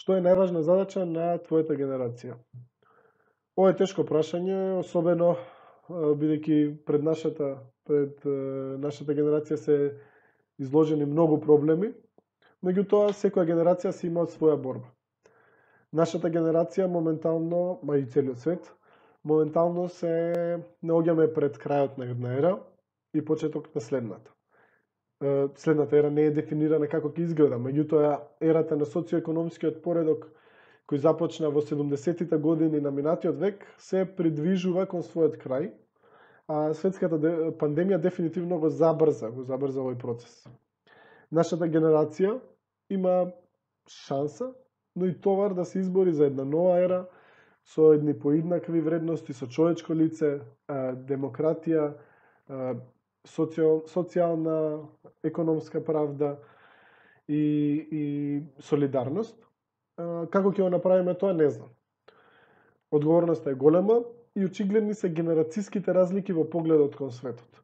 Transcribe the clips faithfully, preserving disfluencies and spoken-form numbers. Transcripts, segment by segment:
Што е најважна задача на твојата генерација? Ова е тешко прашање, особено бидејќи пред нашата пред нашата генерација се изложени многу проблеми, меѓутоа секоја генерација си има своја борба. Нашата генерација моментално, ма и целиот свет, моментално се наоѓаме пред крајот на една ера и почеток на следната. Следната ера не е дефинирана како ќе изгледа, меѓутоа ерата на социоекономскиот поредок кој започна во седумдесеттите години на минатиот век се придвижува кон својот крај, а светската пандемија дефинитивно го забрза, го забрза овој процес. Нашата генерација има шанса, но и товар да се избори за една нова ера со едни поиднакви вредности, со човечко лице, демократија, социјална, економска правда и, и солидарност. Како ќе го направиме тоа, не знам. Одговорноста е голема и очигледни се генерацијските разлики во погледот кон светот.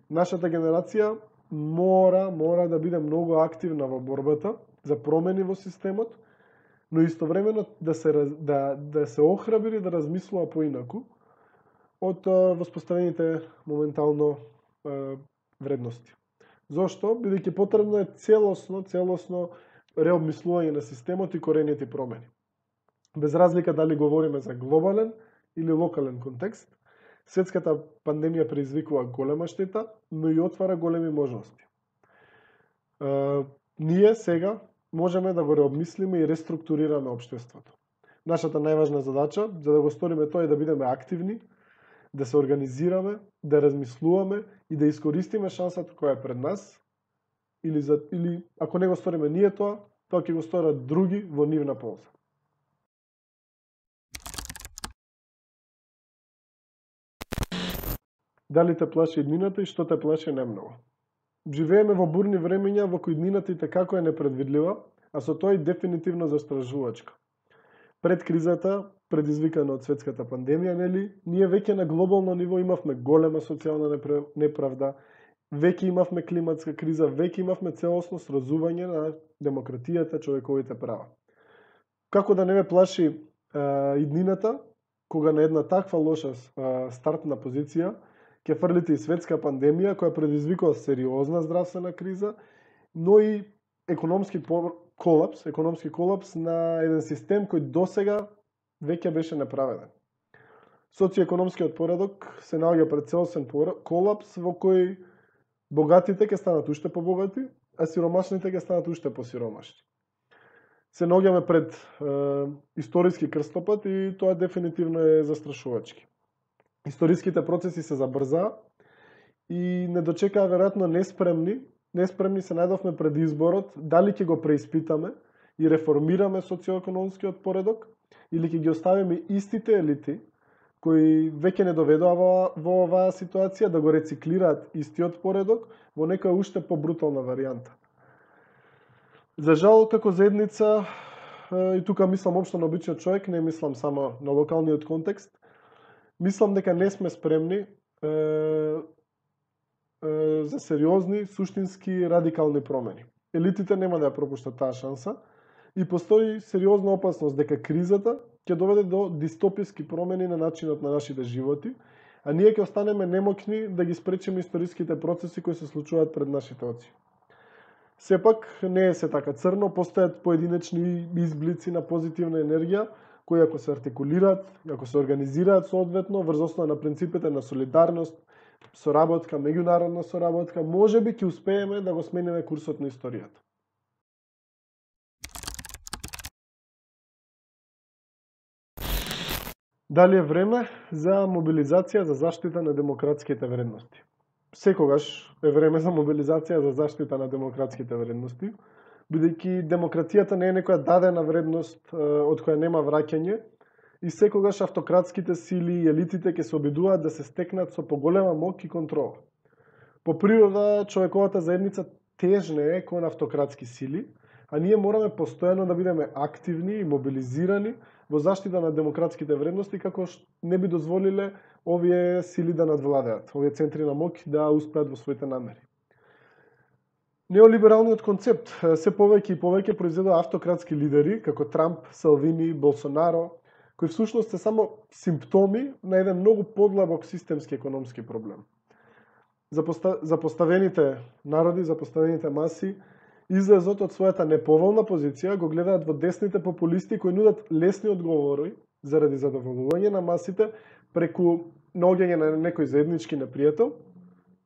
Нашата генерација мора, мора да биде многу активна во борбата за промени во системот, но истовремено да се, да, да се охрабри да размислува поинаку од воспоставените моментално е, вредности. Зошто? Бидејќи потребно е целосно, целосно реобмислување на системот и корените промени. Без разлика дали говориме за глобален или локален контекст, светската пандемија предизвикува голема штета, но и отвара големи можности. Е, ние сега можеме да го реобмислиме и реструктурираме општеството. Нашата најважна задача, за да го сториме тоа, е да бидеме активни, да се организираме, да размислуваме и да искористиме шансата која е пред нас, или, за, или ако не го сториме ние тоа, тоа ќе го сторат други во нивна полза. Дали те плаши иднината и што те плаши најмногу? Живееме во бурни времења во кои иднината и како е непредвидлива, а со тоа и дефинитивно застражувачка. Пред кризата, предизвикана од светската пандемија, нели, ние веќе на глобално ниво имавме голема социјална неправда, веќе имавме климатска криза, веќе имавме целосно срозување на демократијата, човековите права. Како да не ме плаши е, иднината, кога на една таква лоша е, стартна позиција ќе фрлите и светска пандемија која предизвикува сериозна здравствена криза, но и економски колапс, економски колапс на еден систем кој досега веќе беше направеден. Социоекономскиот поредок се наоѓа пред целосен колапс во кој богатите ќе станат уште побогати, а сиромашните ќе станат уште посиромашни. Се наоѓаме пред е, историски крстопат и тоа дефинитивно е застрашувачки. Историските процеси се забрзаа и не дочекаа веројатно неспремни, неспремни се најдовме пред изборот дали ќе го преиспитаме и реформираме социоекономскиот поредок или ќе ги оставиме истите елити кои веќе не доведоа во, во оваа ситуација да го рециклираат истиот поредок во некоја уште побрутална варијанта. За жал, како заедница, и тука мислам општо на обичниот човек, не мислам само на локалниот контекст, мислам дека не сме спремни е, е, за сериозни, суштински, радикални промени. Елитите нема да ја пропуштат таа шанса и постои сериозна опасност дека кризата ќе доведе до дистописки промени на начинот на нашите животи, а ние ќе останеме немокни да ги спречиме историските процеси кои се случуваат пред нашите очи. Сепак не е се така црно, постојат поединечни изблици на позитивна енергија, кои ако се артикулираат, ако се организираат соодветно врз основа на принципите на солидарност, соработка, меѓународна соработка, можеби ќе успееме да го смениме курсот на историјата. Дали е време за мобилизација за заштита на демократските вредности? Секогаш е време за мобилизација за заштита на демократските вредности, бидејќи демократијата не е некоја дадена вредност од која нема враќање и секогаш автократските сили и елитите ќе се обидуваат да се стекнат со поголема моќ и контрола. По природа, човековата заедница тежне е кон автократски сили, а ние мораме постојано да бидеме активни и мобилизирани во заштита на демократските вредности, како не би дозволиле овие сили да надвладеат, овие центри на моќ да успеат во своите намери. Неолибералниот концепт се повеќе и повеќе произведува автократски лидери како Трамп, Салвини, Болсонаро, кои всушност се само симптоми на еден многу подлабок системски економски проблем. Запоставените народи, запоставените маси, излезот од својата неповолна позиција го гледаат во десните популисти кои нудат лесни одговори заради задоволување на масите преку наоѓање на некој заеднички непријател,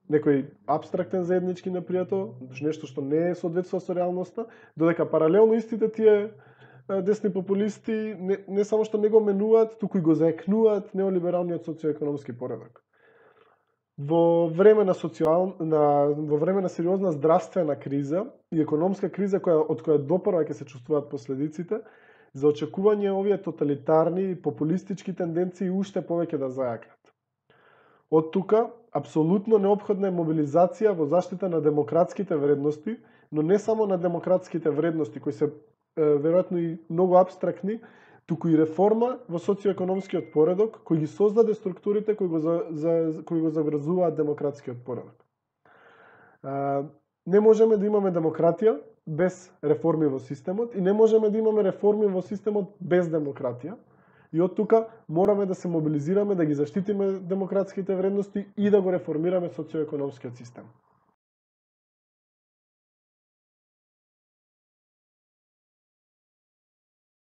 некој абстрактен заеднички непријател, нешто што не е соодветствува со реалноста, додека паралелно истите тие десни популисти не, не само што не го менуваат, туку и го заекнуваат неолибералниот социоекономски поредок. Во време на социјал на во време на сериозна здравствена криза и економска криза која од која допрва ќе се чувствуваат последиците, за очекување овие тоталитарни и популистички тенденции уште повеќе да зајакнат. Од тука апсолутно неопходна е мобилизација во заштита на демократските вредности, но не само на демократските вредности кои се веројатно и многу абстрактни, туку и реформа во социоекономскиот поредок кој ги создаде структурите кои го за, за кои го заврзуваат демократскиот поредок. А, не можеме да имаме демократија без реформи во системот и не можеме да имаме реформи во системот без демократија. И од тука мораме да се мобилизираме, да ги заштитиме демократските вредности и да го реформираме социоекономскиот систем.